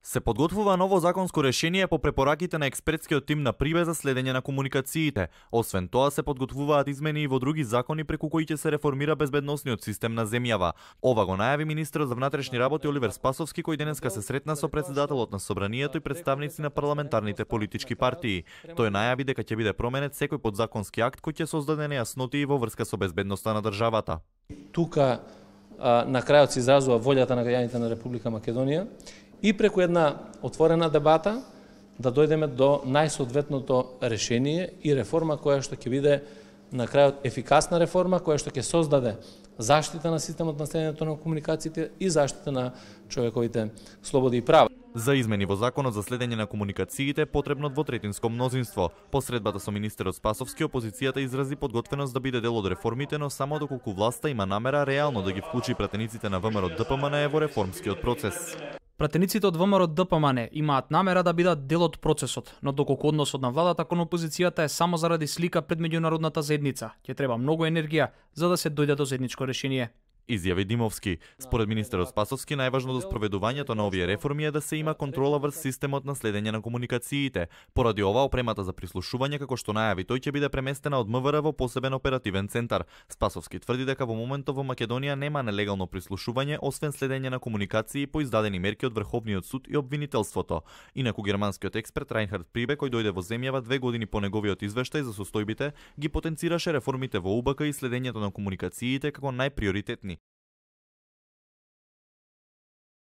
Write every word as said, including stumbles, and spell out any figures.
Се подготвува ново законско решение по препораките на експертскиот тим на Прибе за следење на комуникациите. Освен тоа, се подготвуваат измени и во други закони преку кои ќе се реформира безбедносниот систем на земјава. Ова го најави министерот за внатрешни работи Оливер Спасовски, кој денеска се сретна со претседателот на Собранието и представници на парламентарните политички партии. Тој најави дека ќе биде променет секој подзаконски акт кој ќе создаде нејасноти во врска со безбедноста на државата. Тука а, на крајот се изразува волјата на граѓаните на Република Македонија и преку една отворена дебата да дојдеме до најсоодветното решение и реформа која што ќе биде на крајот ефикасна реформа која што ќе создаде заштита на системот на следењето на комуникациите и заштита на човековите слободи и права. За измени во Законот за следење на комуникациите е потребно двотретинско мнозинство. По средбата со министерот Спасовски, опозицијата изрази подготвеност да биде дел од реформите, но само доколку власта има намера реално да ги вклучи пратениците на ВМРО Д П М Н во реформскиот процес. Пратениците од ВМРО Д П М Н имаат намера да бидат дел од процесот, но доколку односот на владата кон опозицијата е само заради слика пред меѓународната заедница, ќе треба многу енергија за да се дојде до заедничко решение. Изјави Димовски. Според министерот Спасовски, најважно до спроведувањето на овие реформи е да се има контрола врз системот на следење на комуникациите. Поради ова, опремата за прислушување, како што најави тој, ќе биде преместена од М В Р во посебен оперативен центар. Спасовски тврди дека во моментот во Македонија нема нелегално прислушување, освен следење на комуникации по издадени мерки од Врховниот суд и обвинителството. Инаку германскиот експерт Рајнхард Прибе, кој дојде во земјава две години по неговиот извештај за состојбите, ги потенцираше реформите во У Б К и следењето на комуникациите како најприоритетни.